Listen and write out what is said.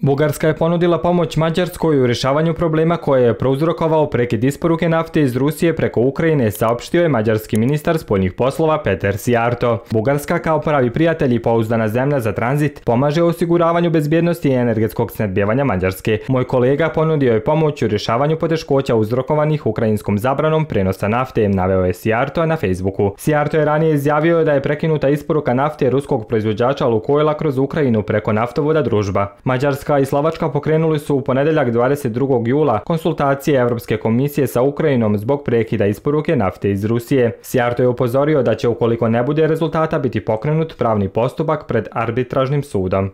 Bugarska je ponudila pomoć Mađarskoj u rješavanju problema koje je prouzrokovao prekid isporuke nafte iz Rusije preko Ukrajine, saopštio je mađarski ministar spoljnih poslova Peter Sijarto. Bugarska, kao pravi prijatelj i pouzdana zemlja za tranzit, pomaže u osiguravanju bezbjednosti i energetskog snabdijevanja Mađarske. Moj kolega ponudio je pomoć u rješavanju poteškoća uzrokovanih ukrajinskom zabranom prenosa nafte, naveo je Sijarto na Facebooku. Sijarto je ranije izjavio da je prekinuta isporuka nafte ruskog proizvođača Lukoila kroz Ukrajinu preko naftovoda Družba. Mađarska i Slovačka pokrenuli su u ponedjeljak 22. jula konsultacije Europske komisije sa Ukrajinom zbog prekida isporuke nafte iz Rusije. Sijarto je upozorio da će, ukoliko ne bude rezultata, biti pokrenut pravni postupak pred arbitražnim sudom.